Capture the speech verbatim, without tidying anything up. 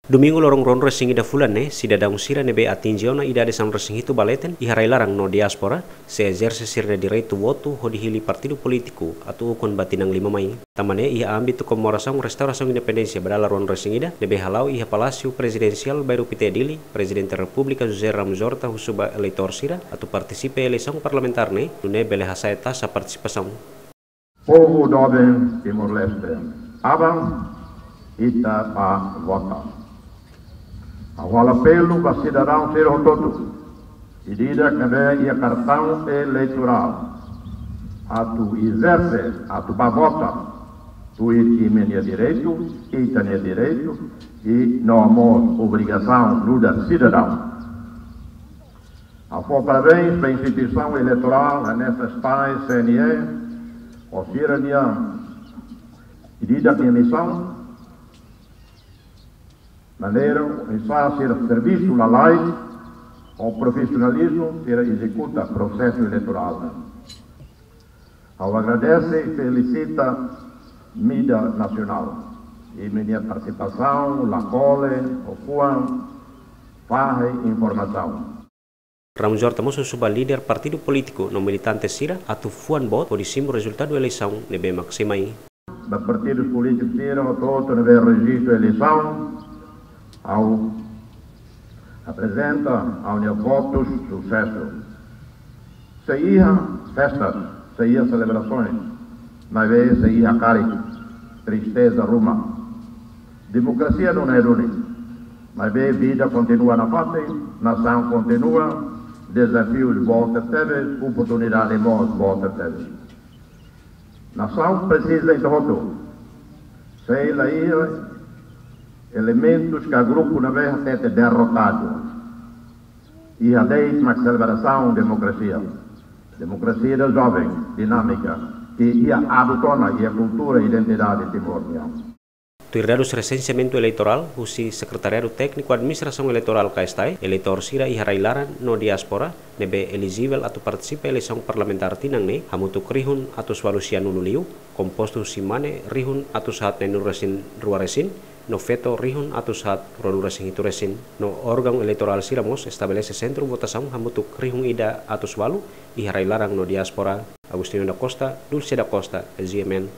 Domingu loron ruanulu-resin-ida fulan ne'e, sidadaun sira ne'ebé atinje ona idade sanulu-resin-hitu ba leten iha rai-laran no diáspora, sei ezerse sira-nia direitu votu hodi hili partidu polítiku atu ukun ba tinan lima mai. Tanba ne'e iha ámbitu komemorasaun restaurasaun independénsia ba dala ruanulu-resin-ida ne'ebé hala'o iha Palásiu Prezidensiál Bairru Pité Dili, Prezidente Repúblika José Ramos Horta husu ba eleitór sira atu partisipa eleisaun parlamentár ne'e, nune'e bele hasa'e taxa partisipasaun. Povu doben Timor-Leste, aban ita bá vota. Ha'u halo apelu ba sidadaun sira hotu-hotu, ida-idak ne'ebé iha kartaun eleitorál, atu ezerse, atu bá vota, tuir imi-nia direitu, ita-nia direitu, i no mós obrigasaun nu'udar sidadaun. Ha'u fó parabéns ba instituisaun eleitorál, hanesan SPAE, C N E, ho sira-nia, ida-idak nia misaun, maneira oinsá sira servisu lalais ho profisionalizmu sira ezekuta prosesu eleitorál. Ha'u agradese i felisita mídia nasionál, imi-nia partisipasaun la kole, ho fuan, fahe informasaun. Ramos Horta mós husu ba líder partidu polítiku no militante sira atu fuan boot hodi simu rezultadu eleisaun ne'ebé mak sei mai. Ba partidus polítikus sira hotu-hotu ne'ebé rejistu eleisaun, ha'u aprezenta ha'u-nia votus susesu. Sei iha festas, sei iha selebrasoens, maibé sei iha karik, tristeza ruma. Demokrasia duni, duni. Maibé vida kontinua nafatin, nasaun kontinua, dezafius boot tebes, oportunidade mós boot tebes. Nasaun presiza ita hotu. Sei la iha elementus ka grupu ne'ebé hatete derrotadu. Iha de'it mak selebrasaun demokrasia. Demokrasia ida joven, dinámika, ke iha aduto ona iha kultura i identidade Timor nian. Tuir dadus resenseamentu eleitorál husi Sekretariadu Tékniku Administrasaun Eleitorál, K S T E, eleitór sira iha rai-laran no diáspora ne'ebé elijivel atu partisipa eleisaun parlamentár tinan ne'e hamutuk rihun atus ualu sianulu liu, kompostu husi mane rihun atus haat neenulu-resin-rua resin, no feto rihun atus haat ruanulu-resin-hitu resin, no órgaun eleitorál sira mós estabelese sentru votasaun hamutuk rihun ida atus ualu iha rai-laran no diáspora. Agostinho da Costa, Dulce da Costa, G M N.